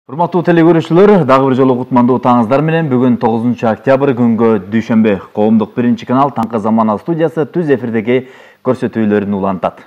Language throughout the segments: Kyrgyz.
Урматтуу телекөрүүчүлөр, дагы бир жолу кутмандуу таңыңыздар менен бүгүн 9 октябрь күнгө дүйшөмбө коомдук биринчи канал Таңкы Замана студиясы түз эфирдеги көрсөтүүлөрүн улантат.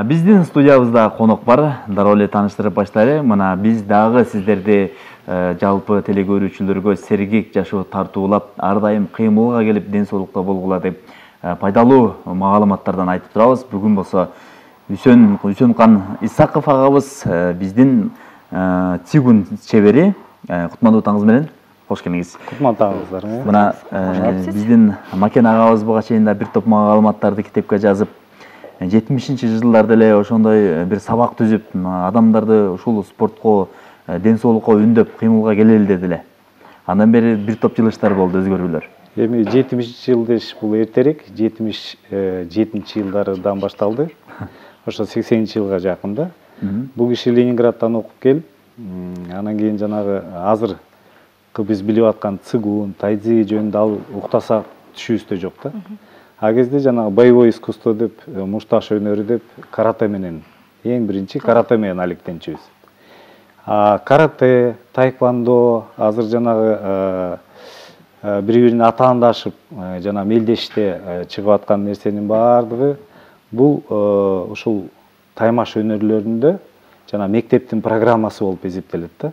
Биздин студиябызда конок бар, дароо эле тааныштырып баштайлы. Мына биз дагы сиздерди жалпы телекөрүүчүлөргө сергек жашоо тартуулап, ар дайым кыймылга келип, ден соолукта болгула деп пайдалуу маалыматтардан айтып турабыз. Бүгүн болсо Үсөнкан Исаков агабыз биздин цигун чебери. Кутмандуу таңыңыз менен. Кош келиңиз. Кутмандуу таңыңыздар. Мына биздин Макен агабыз буга чейин да бир топ маалыматтарды китепке жазып, 70-жылдарда эле ошондой бир сабак түзүп, адамдарды ушул спортко, ден соолукка үндөп, кыймылга келели дедиле. Андан бери бир топ жылыштар болду, өзгөрүүлөр. Эми 70-жыл деш бул эртерээк, 77-жылдардан башталды. Ошо 80-жылга жакында. Бул киши Ленинградтан окуп келип, анан кийин жанагы азыркы биз билип аткан цигун, тайцзи жөнүндө ал уктаса түшүбүздө жок да. А кезде жанагы боевой искусство деп, мушташ өнөрү деп карате менен, эң биринчи карате менен алектенчүбүз. Карате, тайквондо, азыр жанагы бири-бирине атаандашып, жана мелдеште чыгып аткан нерсенин баардыгы бул ушул таймаш өнөрлөрүндө жана мектептин программасы болуп эсептелет да.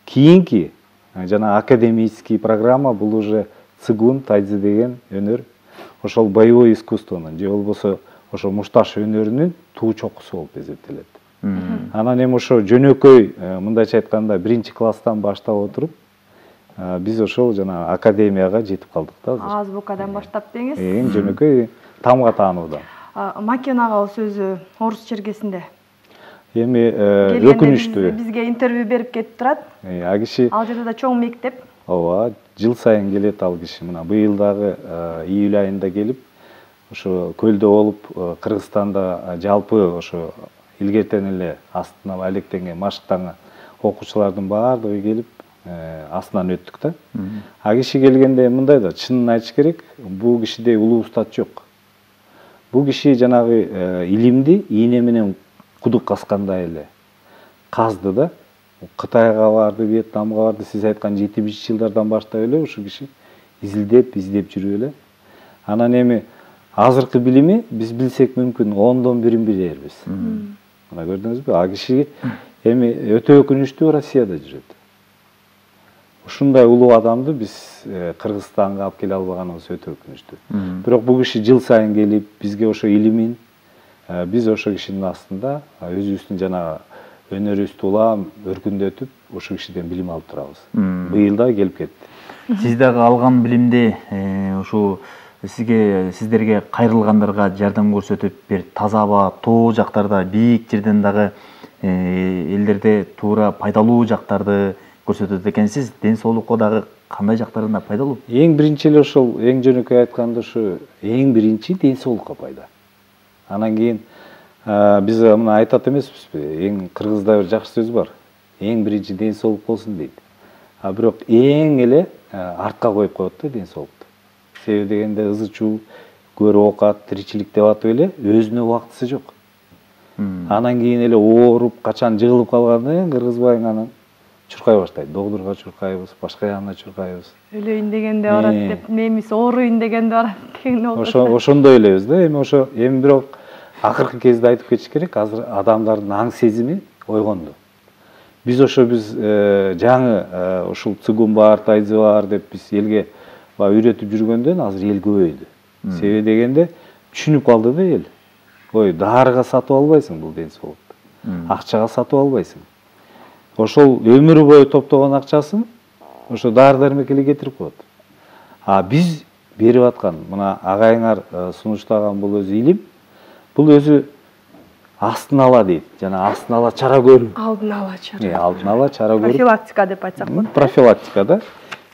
Кийинки жана академический программа бул уже цигун, тайцзи деген өнөр, ошол боевой искусствонун же болбосо ошо мушташ өнөрүнүн туу чокусу болуп эсептелет. Анан эми ошо жөнөкөй, мындайча айтканда, биринчи класстан баштап отуруп, биз ошол жана академияга жетип калдык да азыр. Азбукадан баштап деңиз. Эң жөнөкөй тамга таануудан. Макен агабыз өзү орус чергесинде. Эми өкүнүчтүү. Бизге интервью берип кетип турат. Ал киши Ал жерде да чоң мектеп. Ооба, жыл сайын келет ал киши. Мына быйыл дагы июль айында келип, ошо көлдө болуп, Кыргызстанда жалпы ошо илгертен эле астына алектенген, машыктанган окуучулардын баардыгы келип, астынан өттүк да. А киши келгенде мындай да, чынын айтыш керек, бул кишиде улуу устат жок. Бул киши жанагы илимди ийне менен кудук казгандай эле казды да. Кытайга барды, Вьетнамга барды, сиз айткан 70-жылдардан баштап эле ушу киши издеп жүрүп эле. Анан эми азыркы билими биз билсек мүмкүн 10дон 1-ин билербиз. Мына көрдүңүзбү? А киши эми өтө өкүнүчтүү Россияда жүрөт. Ушундай улуу адамды биз Кыргызстанга алып келе албаганыбыз өтө өкүнүчтүү. Бирок бул киши жыл сайын келип, бизге ошо илимин, биз ошо кишинин астында өзүбүздүн жана өнөрүбүздү улам өркүндөтүп, ошо кишиден билим алып турабыз. Быйыл да келип кетти. Сиз дагы алган билимди ушу сиздерге кайрылгандарга жардам көрсөтүп, бир таза аба, тоо жактарда, бийик жерден дагы элдерде туура пайдалуу жактарды көрсөтөт экенсиз. Ден соолукка дагы кандай жактарында пайдалуу? Эң биринчи эле ошол, эң жөнөкөй айтканда ушу эң биринчи ден соолукка пайда. Анан кийин биз мына айтат эмеспизби? Эң кыргызда бир жакшы сөз бар. Эң биринчи ден соолук болсун дейт. Бирок эң эле артка коюп коет да ден соолукту. Себеби дегенде ызы-чуу, көр оокат, тиричилик деп атып эле өзүнө убактысы жок. Анан кийин эле ооруп, качан жыгылып калганда кыргызбайың анан чуркай баштайт. Доктурга чуркайбыз, башка жагына чуркайбыз. Өлөйүн дегенде барат деп, немис ооруйун дегенде барат дегенде болот. Ошондой элебиз да. Эми бирок акыркы кезде айтып кетиш керек, азыр адамдардын аң сезими ойгонду. Биз жаңы ушул цигун бар, тайцзи бар деп биз элге үйрөтүп жүргөндөн азыр эл көбөйдү. Себеби дегенде түшүнүп калды да эл. Ой, дарыга сатып албайсың бул ден соолукту. Акчага сатып албайсың. Ошол өмүрү бою топтогон акчасын ошо дары-дармек эле кетирип коет. Биз берип аткан, мына агайыңар сунуштаган бул өзү илим, бул өзү астын ала дейт. Жана астын ала чара көрүү. Алдын ала чара. Алдын ала чара көрүү. Профилактика деп айтсак болот. Профилактика да.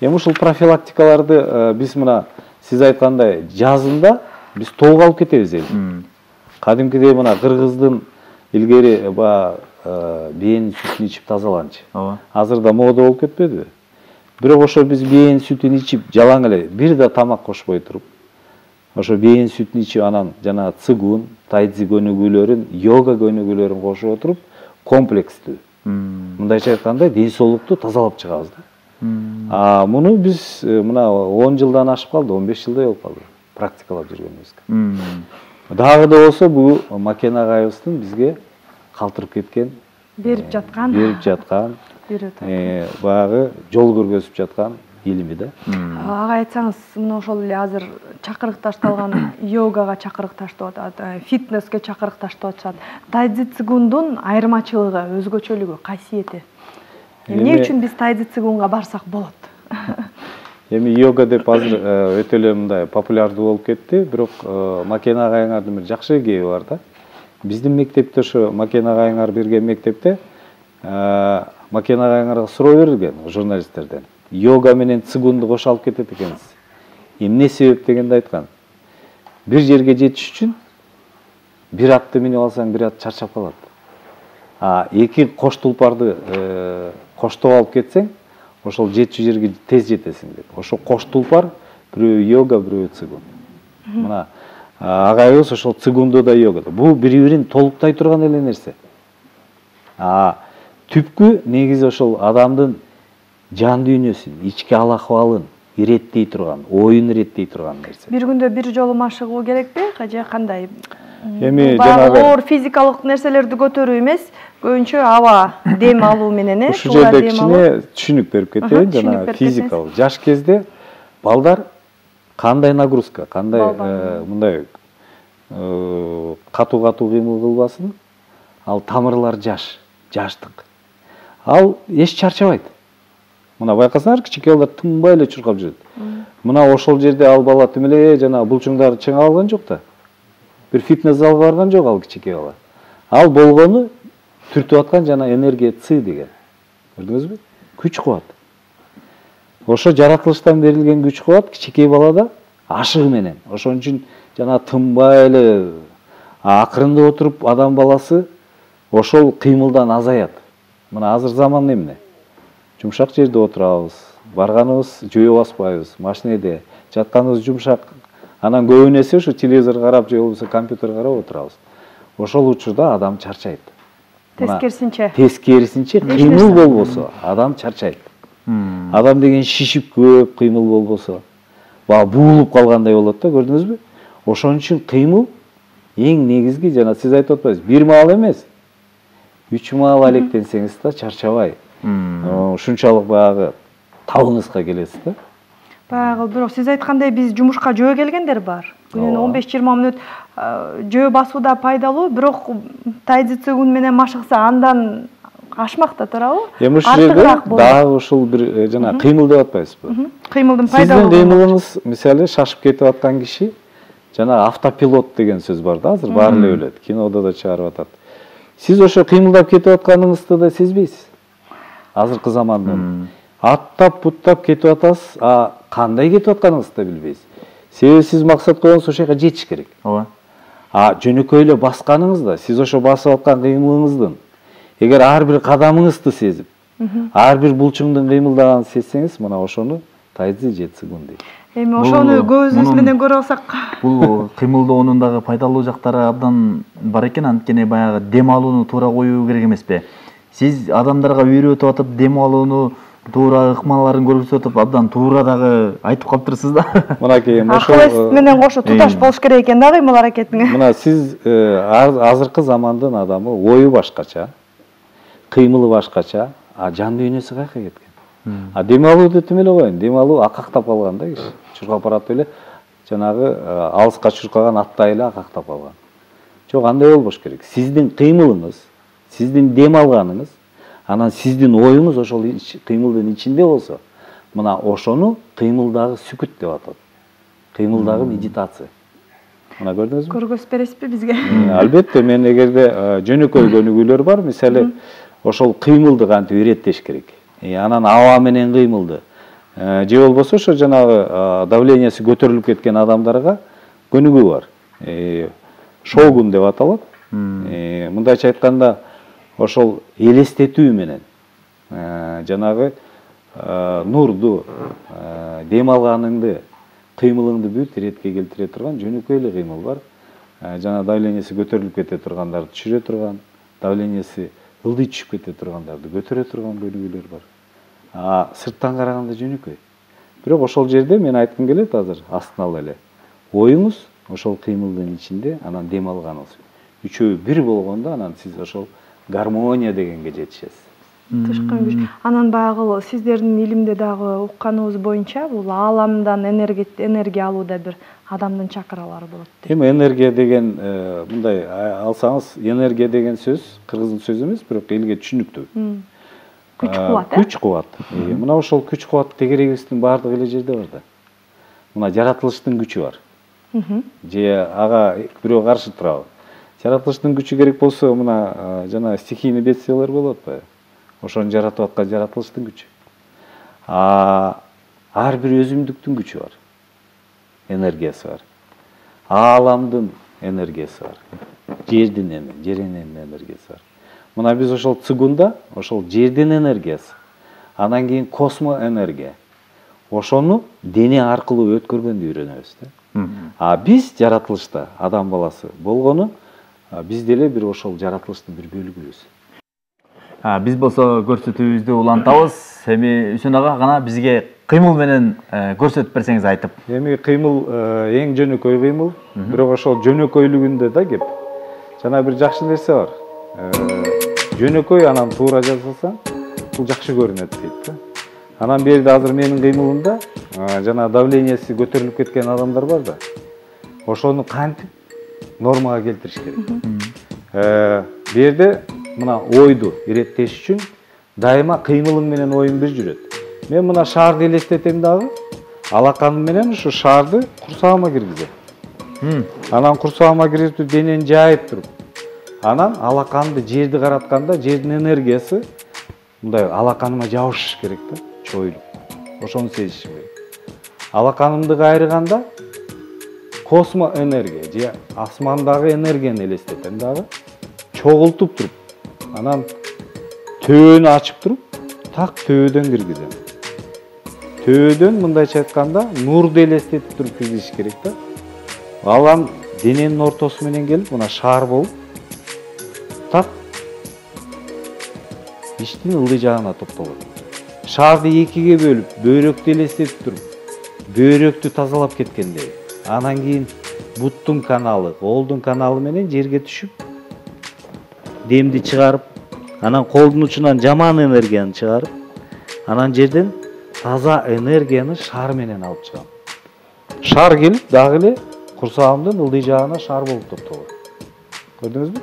Эми ушул профилактикаларды биз мына сиз айткандай жазында биз тоого алып кетебиз эл. Кадимкидей мына кыргыздын илгери биенин сүтүн ичип тазаланчы. Азырда мода болуп кетпедиби? Бирок ошо биз биенин сүтүн ичип жалаң эле бир да тамак кошпой туруп, ошо бийин сүтүн ичип, анан жана цигун, тайцзи көнүгүүлөрүн, йога көнүгүүлөрүн кошуп отуруп комплекстүү. Мындайча айтканда ден соолукту тазалап чыгабыз да. Муну биз мына 10 жылдан ашып калды, 15 жылдай болуп калды практикалап жүргөнүбүзгө. Дагы да болсо бул Макен агайыбыздын бизге калтырып кеткен, берип жаткан баягы жол көргөзүп жаткан илими да. Ага айтсаңыз, мына ошол эле азыр чакырык ташталган йогага чакырык таштап атат, фитнеске чакырык таштап атышат. Тайцзи цигундун айырмачылыгы, өзгөчөлүгү, касиети? Эмне үчүн биз тайцзи цигунга барсак болот? Эми йога деп азыр өтө эле мындай популярдуу болуп кетти, бирок Макен агайыңардын бир жакшы кеби бар да. Биздин мектепте, ошо Макен агайыңар берген мектепте Макен агайыңарга суроо берилген журналисттерден. Йога менен цигунду кошо алып кетет экенсиз. Эмне себеп дегенде айткан. Бир жерге жетиш үчүн бир атты минип алсаң, бир ат чарчап калат. Эки кош тулпарды коштоп алып кетсең, ошол жетчү жерге тез жетесиң деп. Ошо кош тулпар бирөө йога, бирөө цигун. Мына агайыбыз ошол цигунду да йогада. Бул бири-бирин толуктай турган эле нерсе. Түпкү негизи ошол адамдын жан дүйнөсүн, ички ал акыбалын иреттей турган, оюн иреттей турган нерсе. Бир күндө бир жолу машыгуу керекпи, же кандай? Эми жанагы оор физикалык нерселерди көтөрүү эмес, көбүнчө аба, дем алуу менен, Ушул жерде кичине түшүнүк берип кетейин, жана физикалык. Жаш кезде балдар кандай нагрузка, кандай мындай катуу кыймыл кылбасын, ал тамырлар жаштык. Ал эч чарчабайт. Мына байкасаңар, кичике балдар тынбай эле чуркап жүрөт. Мына ошол жерде ал бала тим эле жана булчуңдарды чыңа алган жок да. Бир фитнес залга барган жок ал кичике бала. Ал болгону түртүп аткан жана энергия ци деген. Көрдүңүзбү? Күч кубат. Ошо жаратылыштан берилген күч кубат кичике балада ашыгы менен. Ошон үчүн жана тынбай эле акырындап отуруп адам баласы ошол кыймылдан азаят. Мына азыр заман эмне? Жумшак жерде отурабыз, барганыбыз жөө баспайбыз, машинеде жатканыбыз жумшак. Анан көбүн эсе ушу телевизор карап же болбосо компьютер карап отурабыз. Ошол учурда адам чарчайт. Тескерисинче кыймыл болбосо адам чарчайт. Адам деген шишип көп кыймыл болбосо, буулуп калгандай болот да, көрдүңүзбү? Ошон үчүн кыймыл эң негизги, жана сиз айтып атпайсызбы, 1 маал эмес, 3 маал алектенсеңиз да чарчабай. Ушунчалык баягы табыңызга келесиз да. Баягы, бирок сиз айткандай биз жумушка жөө келгендер бар. Күнүнө 15-20 мүнөт жөө басууда пайдалуу, бирок тайцзи цигун менен машыкса андан ашмак да туурабы? Эми ушул жерде дагы ушул бир жана кыймыл деп атпайсызбы? Кыймылдын пайдалуу. Сиздин кыймылыңыз, мисалы, шашып кетип аткан киши, жана автопилот деген сөз бар да, азыр баары эле билет, кинода да чыгарып атат. Сиз ошо кыймылдап кетип атканыңызды да сезбейсиз. Азыркы заманда аттап буттап кетип атасыз, кандай кетип атканыңызды да билбейсиз. Себеби сиз максат койгонуңуз ошол жака жетиш керек. Ооба. Жөнөкөй эле басканыңызда, сиз ошо басып аткан кыймылыңыздын, эгер ар бир кадамыңызды сезип, ар бир булчуңдун кыймылдаганын сезсеңиз, мына ошону тайцзи же цигун дейт. Эми ошону көзүбүз менен көрө алсак, бул кыймылдоонун дагы пайдалуу жактары абдан бар экен, анткени баягы дем алууну туура коюу керек эмеспи? Сиз адамдарга үйрөтүп атып, дем алууну туура ыкмаларын көрсөтүп атып, абдан туура дагы айтып калыптырсыз да. Мынакей ошол акыл менен кошо туташ болуш керек экен да кыймыл аракетиңе. Мына сиз азыркы замандын адамы ою башкача, кыймылы башкача, жан дүйнөсү каяка кеткен. Дем алууду тим эле коюн, дем алуу акактап калган да киши. Чуркап барат эле жанагы алыска чуркаган аттай эле акактап калган. Жок, андай болбош керек. Сиздин кыймылыңыз, сиздин дем алганыңыз, анан сиздин оюңуз ошол кыймылдын ичинде болсо, мына ошону кыймылдагы сүкүт деп атат. Кыймылдагы медитация. Мына көрдүңүзбү? Көргөзүп бересизби бизге? Албетте, мен эгерде жөнөкөй көнүгүүлөр бар, мисалы, ошол кыймылды кантип иреттеш керек. Анан аба менен кыймылды. Же болбосо ошо жанагы давлениясы көтөрүлүп кеткен адамдарга көнүгүү бар. Шогун деп аталат. Мындайча айтканда, ошол элестетүү менен жанагы нурду, дем алганыңды, кыймылыңды бүт иретке келтире турган жөнөкөй эле кыймыл бар. Жана давлениясы көтөрүлүп кете тургандарды түшүрө турган, давлениясы ылдый түшүп кете тургандарды көтөрө турган көнүгүүлөр бар. Сырттан караганда жөнөкөй. Бирок ошол жерде мен айткым келет азыр астына эле. Оюңуз ошол кыймылдын ичинде, анан дем алганыңыз. Үчөө бир болгондо анан сиз ошол гармония дегенге жетишесиз. Тышкын күч. Анан баягы сиздердин илимде дагы укканыбыз боюнча бул ааламдан энергия алууда бир адамдын чакралары болот. Эми энергия деген мындай алсаңыз, энергия деген сөз кыргыз сөзү эмес, бирок элге түшүнүктүү. Күч кубат, Күч кубат. Мына ошол күч кубат тегерегибиздин баардыгы эле жерде бар да. Мына жаратылыштын күчү бар. Же ага бирөө каршы турабы? Жаратылыштын күчү керек болсо, мына жана стихийный бедствиялар болот атпайбы? Ошону жаратып аткан жаратылыштын күчү. Ар бир өзүмдүктүн күчү бар. Энергиясы бар. Ааламдын энергиясы бар. Жердин энергиясы бар. Мына биз ошол цигунда ошол жердин энергиясы. Анан кийин космо энергия. Ошону дене аркылуу өткөргөндү үйрөнөбүз да. Биз жаратылышта адам баласы болгону биз деле бир ошол жаратылыштын бир бөлүгүбүз. Биз болсо көрсөтүүбүздү улантабыз. Эми Үсөн ага гана бизге кыймыл менен көрсөтүп берсеңиз айтып. Эми кыймыл эң жөнөкөй кыймыл, бирок ошол жөнөкөйлүгүндө да кеп. Жана бир жакшы нерсе бар. Жөнөкөй анан туура жасасаң, бул жакшы көрүнөт дейт да. Анан берде азыр менин кыймылымда жана давлениясы көтөрүлүп кеткен адамдар бар да. Ошону кантип нормага келтириш керек. Берде мына ойду иреттеш үчүн дайыма кыймылың менен оюң бир жүрөт. Мен мына шаарды элестетем дагы, алаканым менен ушу шаарды курсагыма киргизем. Анан курсагыма киргизип денени жайып туруп, анан алаканды жерди каратканда жердин энергиясы мындай алаканыма жабышыш керек да, чоюлуп. Ошону сезишим керек. Алаканымды кайрыганда космо энергия же асмандагы энергияны элестетем дагы, чогултуп туруп, анан төбөнү ачып туруп, так төбөдөн киргизем. Төбөдөн мындайча айтканда нурду элестетип туруп киргизиш керек да. Алам дененин ортосу менен келип, мына шаар болуп, так иштин ылдый жагына топтолот. Шаарды экиге бөлүп, бөйрөктү элестетип туруп, бөйрөктү тазалап кеткендей. Анан кийин буттун каналы, колдун каналы менен жерге түшүп, демди чыгарып, анан колдун учунан жаман энергияны чыгарып, анан жерден таза энергияны шар менен алып чыгам. Шар келип, дагы эле курсагымдын ылдый жагына шар болуп топтолот. Көрдүңүзбү?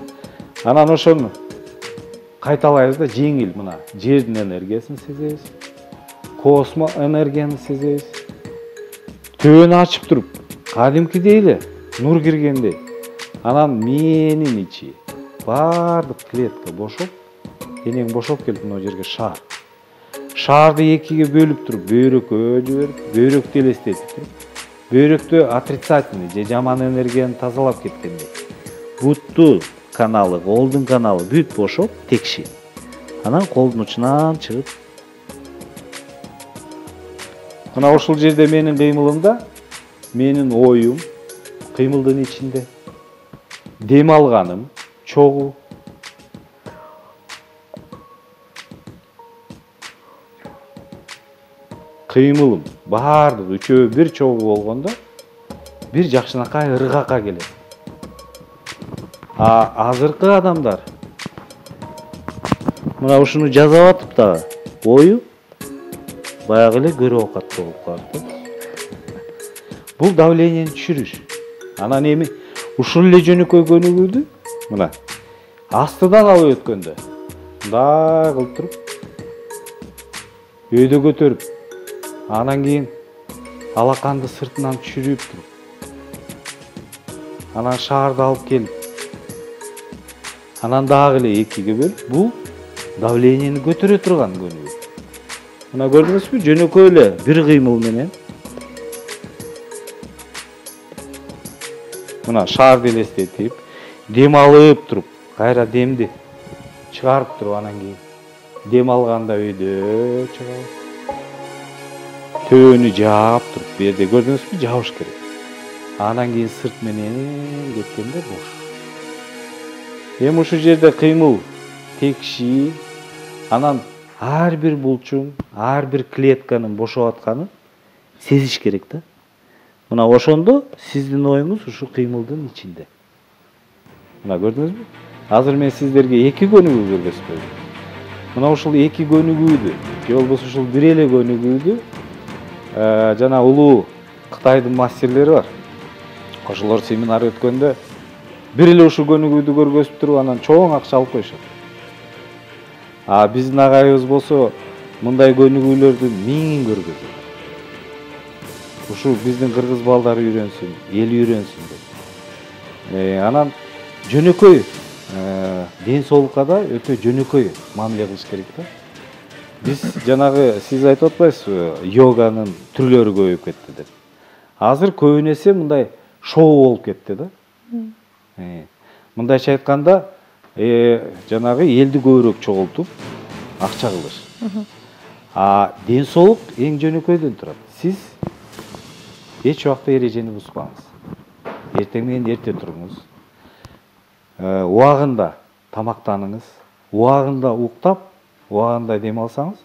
Анан ошону кайталайбыз да, жеңил мына жердин энергиясын сезебиз. Космо энергияны сезебиз. Төбөнү ачып туруп, кадимкидей эле нур киргендей. Анан менин ичи баардык клетка бошоп, денең бошоп келип мына жерге шаар. Шаарды экиге бөлүп туруп, бөйрөккө жиберип, бөйрөктү элестетип туруп, бөйрөктө отрицательный же жаман энергияны тазалап кеткендей. Бутту каналы, колдун каналы бүт бошоп, текши. Анан колдун учунан чыгып. Мына ошол жерде менин кыймылымда, менин оюм кыймылдын ичинде. Дем алганым чогуу. Кыймылым баардыгы үчөө бир чогуу болгондо бир жакшынакай ыргакка келет. Азыркы адамдар мына ушуну жазап атып дагы ою баягы эле көрө окаттуу болуп калат. Бул давленияны түшүрүш. Анан эми ушул эле жөнөкөй көнүгүүдү мына астыдан алып өткөндө мындай кылып туруп өйдө көтөрүп, анан кийин алаканды сыртынан түшүрүп туруп, анан шаарды алып келип, анан дагы эле экиге бөлүп, бул давленияны көтөрө турган көнүгүү. Мына көрдүңүзбү, жөнөкөй эле бир кыймыл менен мына шаарды элестетип, дем алып туруп, кайра демди чыгарып туруп, анан кийин дем алганда өйдө чыгабыз. төбөнү жаап туруп, бу жерде көрдүңүзбү, жабыш керек. Анан кийин сырт менен кеткенде бош. Эми ушул жерде кыймыл текши, анан ар бир булчуң, ар бир клетканын бошоп атканын сезиш керек да. Мына ошондо сиздин оюңуз ушул кыймылдын ичинде. Мына көрдүңүзбү? Азыр мен сиздерге эки көнүгүү көргөзбөйм. Мына ушул эки көнүгүүдү, же болбосо ушул бир эле көнүгүүдү жана улуу Кытайдын мастерлери бар. Ошолор семинар өткөндө бир эле ушул көнүгүүдү көргөзүп туруп, анан чоң акча алып коюшат. А биздин агайыбыз болсо мындай көнүгүүлөрдүн миңин көргөзөт. Ушул биздин кыргыз балдары үйрөнсүн, эл үйрөнсүн деп. Анан жөнөкөй ден соолукка да өтө жөнөкөй мамиле кылыш керек да. Биз жанагы сиз айтып атпайсызбы, йоганын түрлөрү көбөйүп кетти деп. Азыр көбүнесе мындай шоу болуп кетти да. Мындайча айтканда, жанагы элди көбүрөөк чогултуп, акча кылыш. А ден соолук эң жөнөкөйдөн турат. Сиз эч убакта эрежени бузбаңыз. Эртең менен эрте туруңуз. Убагында тамактаныңыз, убагында уктап, убагында дем алсаңыз,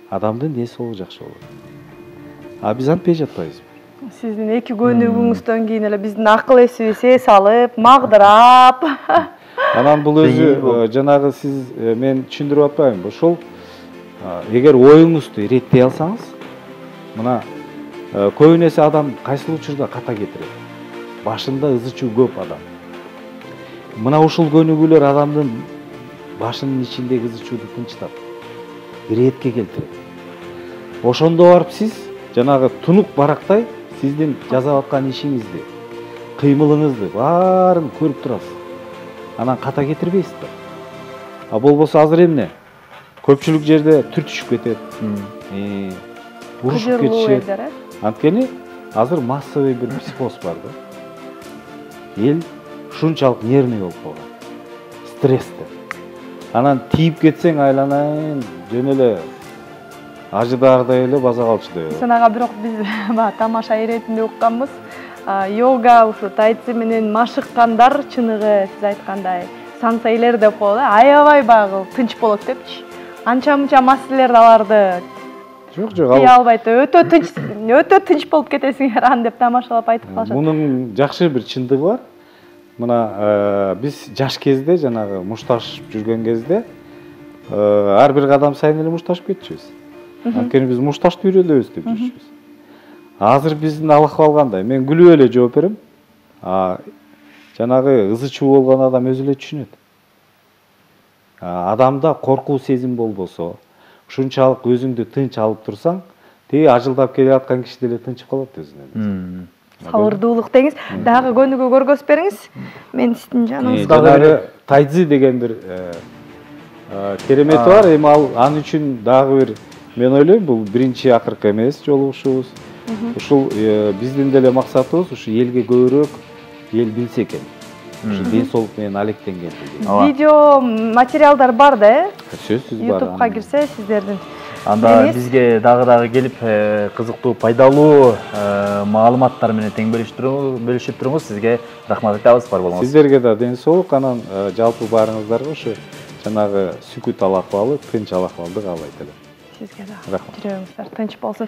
адамдын ден соолугу жакшы болот. А биз антпей жатпайбызбы? Сиздин эки көнүгүүңүздөн кийин эле биздин акыл эсибиз эс алып, магдырап. Анан бул өзү жанагы сиз мен түшүндүрүп атпаймынбы? Ошол эгер оюңузду иреттей алсаңыз, мына көбүнесе адам кайсыл учурда ката кетирет? Башында ызы чуу көп адам. Мына ушул көнүгүүлөр адамдын башынын ичиндеги ызы чууду тынчтап, иретке келтирет. Ошондо барып сиз жанагы тунук барактай сиздин жасап аткан ишиңизди, кыймылыңызды баарын көрүп турасыз. Анан ката кетирбейсиз да. А болбосо азыр эмне? Көпчүлүк жерде түр түшүп кетет. Урушуп кетишет. Анткени азыр массовый бир психоз бар да. Эл ушунчалык нервный болуп калган. Стрессте. Анан тийип кетсең айланайын, жөн эле ажыдаардай эле база калчудай болот. Санага бирок биз тамаша иретинде укканбыз. Йога ушу тайци менен машыккандар чыныгы сиз айткандай сансейлер деп коет, аябай баягы тынч болот депчи. Анча-мынча мастерлер аларды Жок, тие албайт. Өтө тынч болуп кетесиңер аны деп тамашалап айтып калышат. Мунун жакшы бир чындыгы бар. Мына биз жаш кезде жанагы мушташып жүргөн кезде ар бир кадам сайын эле мушташып кетчүбүз. Анткени биз мушташты үйрөнөбүз деп жүрчүбүз. Азыр биздин ахыбал кандай? Мен күлүп эле жооп берем. Жанагы ызы чуу болгон адам өзү эле түшүнөт. Адамда коркуу сезим болбосо, ушунчалык өзүңдү тынч алып турсаң, тиги ажылдап келе аткан киши деле тынчып калат өзүнөн. Сабырдуулук деңиз. Дагы көнүгүү көргөзүп бериңиз. Мен сиздин жаныңызда дагы тайцзи деген бир керемети бар. Эми ал үчүн дагы бир мен ойлойм, бул биринчи акыркы эмес жолугушуубуз. Ушул биздин деле максатыбыз ушу элге көбүрөөк эл билсе экен. Ушу ден соолук менен алектенген. Видео материалдар бар да, Сөзсүз бар. YouTube'га кирсе сиздердин. Анда бизге дагы келип кызыктуу, пайдалуу маалыматтар менен тең бөлүшүп туруңуз. Сизге рахмат айтабыз, бар болуңуз. Сиздерге да ден соолук, анан жалпы баарыңыздарга ушу жанагы сүкүт ал акыбалы, тынч ал акыбалды каалайт элем. Сизге да жүрөгүңүздөр тынч болсун.